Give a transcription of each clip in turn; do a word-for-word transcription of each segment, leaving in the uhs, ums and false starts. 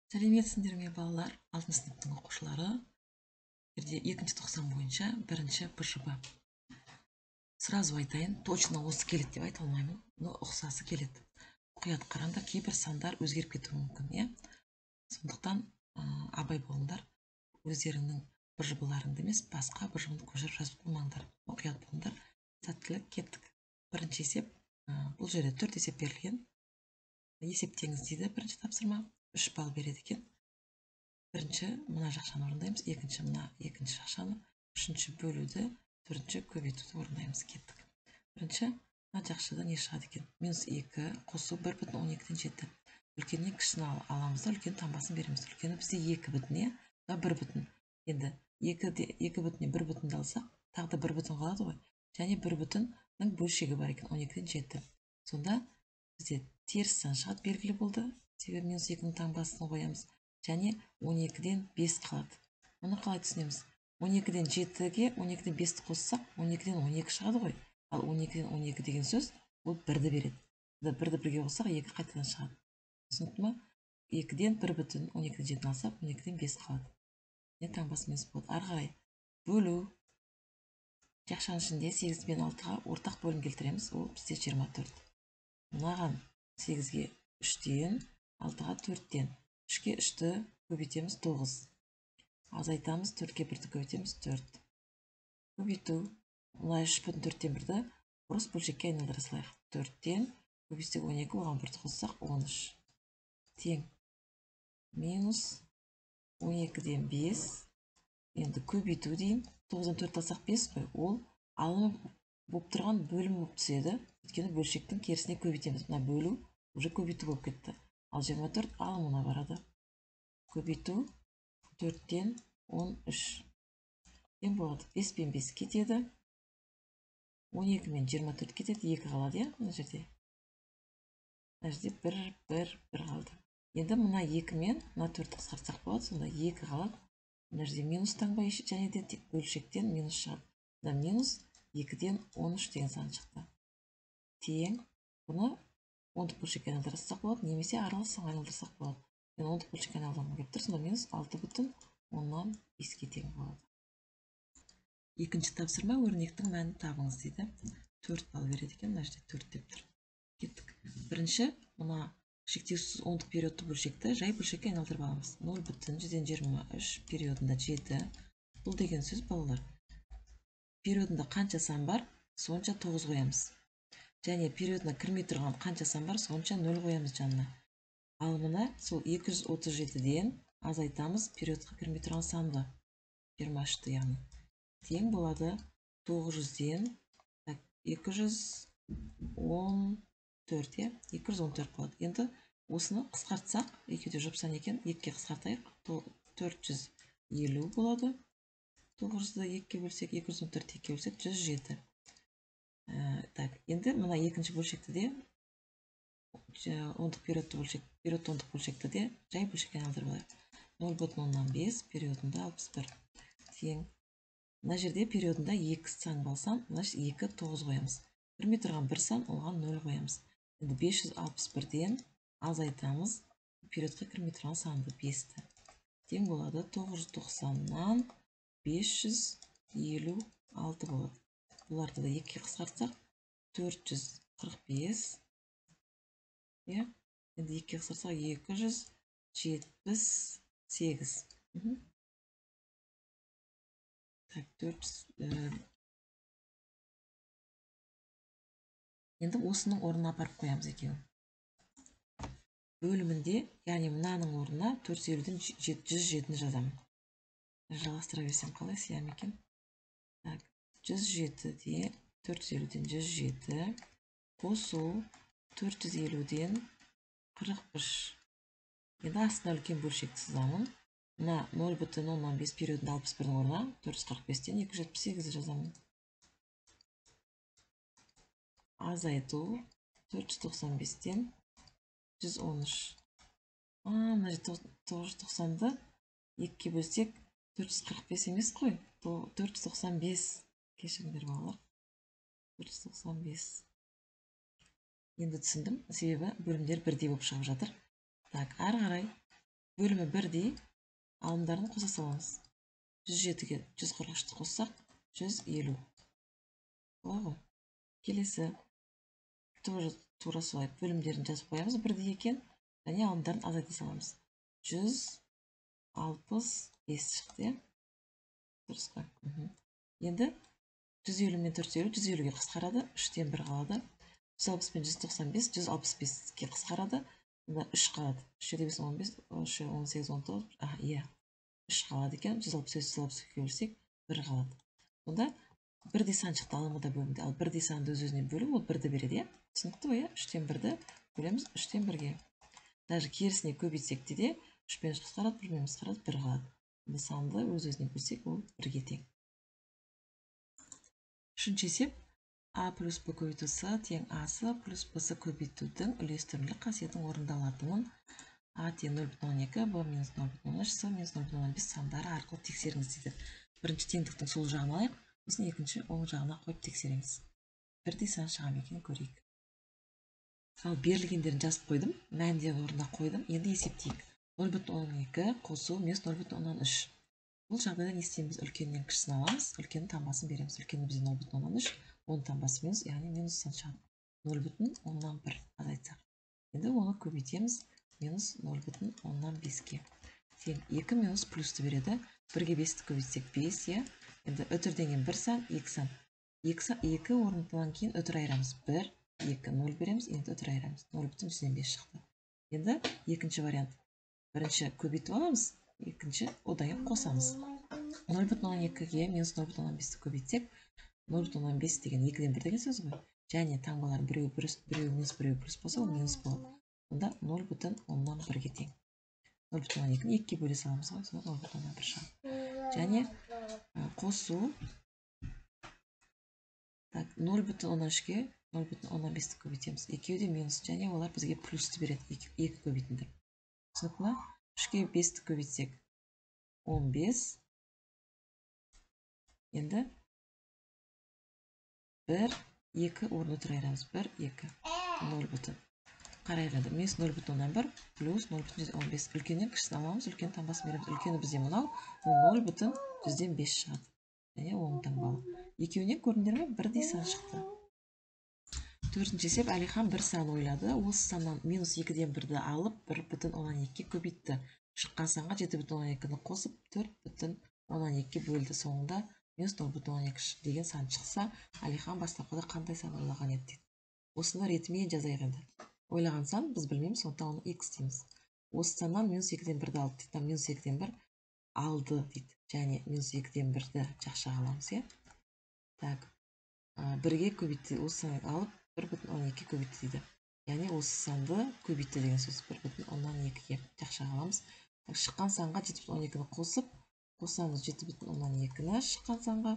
Сәлеметсіңдер ме балалар? алтыншы сыныптың оқушылары. екінші тоқсан бойынша бірінші Б Ж Б. Сразу айтайын, точно осы келеді деп айта алмаймын, но ұқсасы келеді. Мұқият қараңдар, кейбір сандар өзгеріп кетуі мүмкін, иә? Сондықтан абай болыңдар, өздеріңнің Б Ж Б-ларыңды емес, басқа Б Ж Б-ны көшіріп жазып қоймаңдар. Мұқият болыңдар. Сәттілік, кеттік. Бірінші есеп, бұл жерде төрт есеп берілген. Есептеңіз дейді бірінші тапсырма. үш балл береді екен. Бірінші мына жақшаны орындаймыз, екінші мына екінші жақшаны, үшінші бөлуді, төртінші көбейтуді орындаймыз. Кеттік. Бірінші мына жақшада не шығады екен? Минус екі қосу бір бүтін он екіден жеті. Үлкеннен кішісін аламыз да, үлкен таңбасын береміз. Үлкені бізде екі бүтін, да бір бүтін. Енді екі бүтіннен бір бүтінді алсақ, тағы да бір бүтін қалады ғой. Және бір бүтіннің бөлшегі бар екен, он екіден жеті. Сонда бізде теріс сан шығады, белгілі болды. Себебі минус екінің таңбасын қоямыз. Және он екіден бес қалады. Оны қалай түсінеміз? он екіден жетіге он екіден бесті қоссақ, он екіден он екі шығады ғой. Ал он екіден он екі деген сөз, ол бірді береді. бірді бірге қоссақ, екі қайтадан шығады. Түсінікті ма? екіден бір бүтін, он екіден жетіні алсақ, он екіден бес қалады. Не таңбасы минус болады? Ары қарай бөлу. Жақшаның ішінде сегіз бен алтыға ортақ бөлім келтіреміз. Ол бізде жиырма төрт. Мынаған сегізге үштен, алтыға төрттен. үшке үшті көбейтеміз тоғыз. Азайтамыз, төртке бірді көбейтеміз төрт. Көбейту. Мына үш бүтін төрттен бірді бұрыс бөлшекке айналдыра салайық. төрттен көбейтсек он екі, оған бірді қоссақ он үш. Тең. Минус он екіден бес. Енді көбейту дейін. тоғыздан төрт алсақ бес қой. Ол алынып болып тұрған бөлім болып түседі. Өйткені бөлшектің керісіне көбейтеміз. Мына бөлу уже көбейту болып кетті. Ал жиырма төрт алымына барады. Көбейту төрттен он үш. Тең болады. бес пен бес кетеді. он екі мен жиырма төрт кетеді. екі қалады, иә? Мына жерде. Мына жерде бір, бір, бір қалды. Енді мына екі мен мына төртті қысқартсақ болады. Сонда екі қалады. Мына жерде минус таңба және де бөлшектен минус шығады. Мына минус екіден он үш деген сан шықты. Тең. Бұны ондық бөлшекке айналдырсақ болады, немесе аралас санға айналдырсақ болады. Мен ондық бөлшекке айналдырғым келіп тұр, сонда минус алты бүтін оннан беске тең болады. Екінші тапсырма, өрнектің мәнін табыңыз дейді. төрт балл береді екен, мына жерде төрт деп тұр. Кеттік. Бірінші, мына шектеусіз ондық периодты бөлшекті жай бөлшекке айналдырып аламыз. нөл бүтін жүзден жиырма үш периодында жеті. Бұл деген сөз, балалар, периодында қанша сан бар, сонша тоғыз қоямыз. Және периодына кірмей тұрған қанша сан бар, сонша нөл қоямыз жанына. Ал мына сол екі жүз отыз жетіден азайтамыз периодқа кірмей тұрған санды. жиырма үшті яғни. Тең болады тоғыз жүзден екі жүз он төрт, е? екі жүз он төрт болады. Енді осыны қысқартсақ, екеуде жұп сан екен, екіге қысқартайық. төрт жүз елу болады. тоғыз жүзді екіге бөлсек, екі жүз он төртті екіге бөлсек, жүз жеті. Так, енді мына екінші бөлшекті де, ондық периодты бөлшек, периодты ондық бөлшекті де жай бөлшекке айналдырып алайық. нөл бүтін оннан бес, периодында алпыс бір. Тең. Мына жерде периодында екі сан болсам, значит екі тоғыз қоямыз. Кірмей тұрған бір сан, оған нөл қоямыз. Енді бес жүз алпыс бірден азайтамыз периодқа кірмей тұрған санды бесті. Тең болады тоғыз жүз тоқсаннан бес жүз елу алты болады. Бұларды да екіге қысқартсақ, төрт жүз қырық бес. Енді екіге қысқартсақ, екі жүз жетпіс сегіз. Енді осының орнына апарып қоямыз екеуін. Бөлімінде, яғни мынаның орнына төрт жүз елуден жүз жетіні жазамын. Жалғастыра берсем қалай сиям екен? жүз жетіде төрт жүз елуден жүз жеті қосу төрт жүз елуден қырық үш. Енді астына үлкен бөлшекті сызамын. Мына нөл бүтін оннан бес периодында алпыс бірдің орнына төрт жүз қырық бестен екі жүз жетпіс сегізді жазамын. Азайту төрт жүз тоқсан бестен жүз он үш. Мына тоғыз жүз тоқсанды екіге бөлсек, төрт жүз қырық бес емес қой. төрт жүз тоқсан бес. Кешіріңдер балалар. төрт жүз тоқсан бес. Енді түсіндім, себебі бөлімдер бірдей болып шығып жатыр. Так, ары қарай бөлімі бірдей алымдарын қоса саламыз. жүз жетіге жүз қырық үшті қоссақ, жүз елу. Олай ғой. Келесі тоже тура солай бөлімдерін жазып қоямыз, бірдей екен, және алымдарын азайта саламыз. жүз алпыс бес шықты. Дұрыс па? Енді жүз елу мен төрт жүз елу жүз елуге қысқарады, үштен бір қалады. жүз алпыс пен жүз тоқсан бес жүз алпыс беске қысқарады. Онда үш қалады. үш жеті бес он бес, он сегіз он тоғыз, а, иә. үш қалады екен. жүз алпыс бес жүз алпыс екіге бөлсек бір қалады. Онда бірдей сан шықты алымында бөлімде. Ал бірдей санды өз-өзіне бөлу ол бірді береді, иә? Түсінікті ғой, иә? үштен бірді бөлеміз үштен бірге. Даже керісіне көбейтсек те үш пен үш қысқарады, бір пен қысқарады, бір қалады. Онда санды өз-өзіне бөлсек ол бірге тең. Үшінші есеп А плюс Б көбейту С тең Асы плюс Б-сы көбейтудің үлестірімділік қасиетінің орындалатынын А тең нөл бүтін оннан екі, Б минус нөл бүтін оннан үш, С минус нөл бүтін оннан бес сандары арқылы тексеріңіз дейді. Бірінші теңдіктің сол жағын алайық, сосын екінші оң жағына қойып тексереміз. Бірдей сан шыға ма екенін көрейік. Ал берілгендерін жазып қойдым, мәндерін орнына қойдым. Енді есептейік. нөл бүтін оннан екі қосу минус нөл бүтін оннан үш. Бұл жағдайда не істейміз? Үлкеннен кішісін аламыз, үлкеннің таңбасын береміз. Үлкені бізде нөл бүтін оннан үш, оның таңбасы минус, яғни минус сан шығады. нөл бүтін оннан бір азайтсақ. Енді оны көбейтеміз минус нөл бүтін оннан беске. Тең екі минус плюсты береді. бірге бесті көбейтсек бес, е. Енді үтірден кейін бір сан, екі сан. екі орнынан кейін үтір айырамыз. бір, екі, нөл береміз, енді үтір айырамыз. нөл бүтін жүзден бес шықты. Енді екінші вариант. Бірінші көбейтіп аламыз, екінші одан қосамыз. нөл бүтін оннан екіге минус нөл бүтін оннан бесті көбейтсек, нөл бүтін оннан бес деген екіден бір деген сөз ғой. Және таңбалар біреу минус біреу плюс болса, ол минус болады. Онда нөл бүтін оннан бірге тең. нөл бүтін оннан екіні екіге бөле саламыз ғой, сонда нөл бүтін оннан бір шығады. Және қосу нөл бүтін оннан үшке нөл бүтін оннан бесті көбейтеміз. Екеуі де минус, және олар бізге плюсті береді, екі көбейтіндір. Түсінікті ма? үшке бесті көбейтсек он бес. Енді бір, екі орны тұр айырамыз. бір, екі, нөл бүтін. Қарайғанды. Минус нөл бүтін оннан бір плюс нөл бүтін жүзден он бес. Үлкеннен кішісін аламыз, үлкен таңбасын береміз. Үлкені бізде мынау, нөл бүтін жүзден бес шығады. Және оң таңбалы. Екеуінен көрдіңдер ме? Бірдей сан шықты. Төртінші есеп, Әлихан бір сан ойлады. Осы саннан минус екіден бірді алып, бір бүтін оннан екіге көбейтті. Шыққан санға жеті бүтін оннан екіні қосып, төрт бүтін оннан екіге бөлді. Соңында минус нөл бүтін оннан екі деген сан шықса, Әлихан бастапқыда қандай сан ойлаған еді дейді. Осыны ретімен жазайық енді. Ойлаған сан біз білмейміз, сонда оны x дейміз. Осы саннан минус екіден бірді алды дейді. Минус екіден бір алды дейді. Және минус екіден бірді жақшаға аламыз, е? Так, бірге көбейтті. Осы санны алып, бір бүтін оннан екіге көбейтті дейді. Яғни осы санды көбейтті деген сөз. бір бүтін оннан екіге жақшаға аламыз. Шыққан санға жеті бүтін оннан екіні қосып, қосамыз жеті бүтін оннан екіні шыққан санға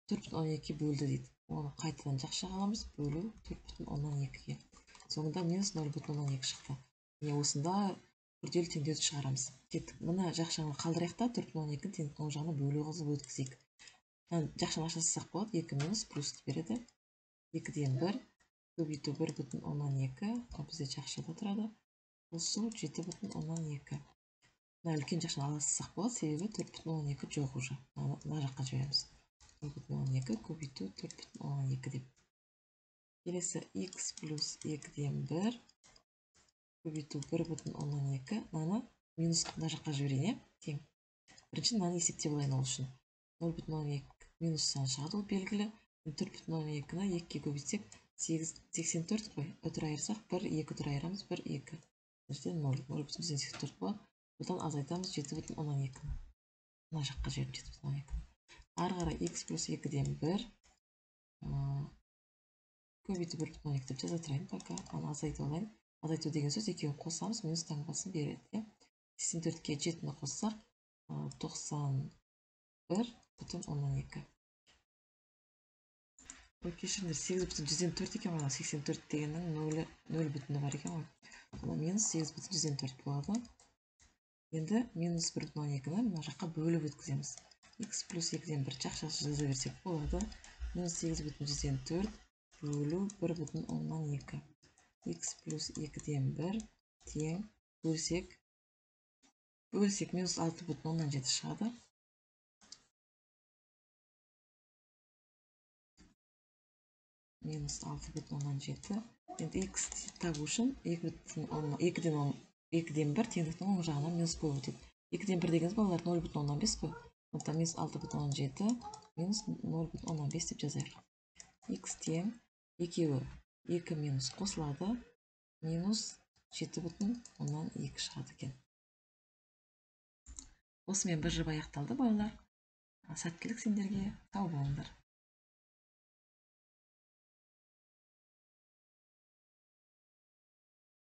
төрт бүтін оннан екіге бөлді дейді. Оны қайтадан жақшаға аламыз, бөлу төрт бүтін оннан екіге. Соңында минус нөл бүтін оннан екі шықты. Міне осында күрделі теңдеуді шығарамыз. Кеттік. Мына жақшаны қалдырайық та төрт бүтін оннан екіні теңдіктің оң жағына бөлу қылып өткізейік. Жақшаны ашасақ болады, екі минус плюсты береді. екіден бір көбейту бір бүтін оннан екі, ол бізде жақшада тұрады. Қосу жеті бүтін оннан екі. Мына үлкен жақшаны аласақ болады, себебі төрт бүтін оннан екі жоқ уже. Мына жаққа жібереміз. бір бүтін оннан екі көбейту төрт бүтін оннан екі деп. Келесі x плюс екіден бір көбейту бір бүтін оннан екі. Мынаны минус мына жаққа жіберейін, тең. Бірінші мынаны есептеп алайын ол үшін. нөл бүтін оннан екі минус сан шығады, ол белгілі. төрт бүтін оннан екіні екіге көбейтсек сексен төрт қой. Үтір айырсақ бір, екі үтір айырамыз, бір, екі. Біріншіден нөл, нөл бүтін жүзден сексен төрт болады. Бұдан азайтамыз жеті бүтін оннан екіні. Мына жаққа жіберіп жеті бүтін оннан екіні. Ары қарай x плюс екіден бір көбейту бір бүтін оннан екі деп жаза тұрайын, пока. Аны азайту алайын. Азайту деген сөз екеуін қосамыз, минус таңбасын береді. сексен төртке жетіні қоссақ, тоқсан бір бүтін оннан екі. Ой, кешіріңдер, сегіз бүтін жүзден төрт екен ғой, сексен төрт дегеннің нөл бүтіні бар екен ғой. Сонда минус сегіз бүтін жүзден төрт болады. Енді минус бір бүтін оннан екіні мына жаққа бөліп өткіземіз. X плюс екіден бір жақшасы жаза берсек болады. Минус сегіз бүтін жүзден төрт бөлу бір бүтін оннан екі. X плюс екіден бір тең бөлсек бөлсек минус алты бүтін оннан жеті шығады. Минус алты бүтін оннан жеті. Енді x табу үшін екіден бір теңдіктің оң жағынан минус болып өтеді. екіден бір дегеніміз балалар нөл бүтін оннан бес қой. Сондықтан минус алты бүтін оннан жеті минус нөл бүтін оннан бес деп жазайық. X тең екеуі екі минус қосылады. Минус жеті бүтін оннан екі шығады екен. Осымен бір жоба аяқталды балалар. Сәттілік сендерге, сау болыңдар.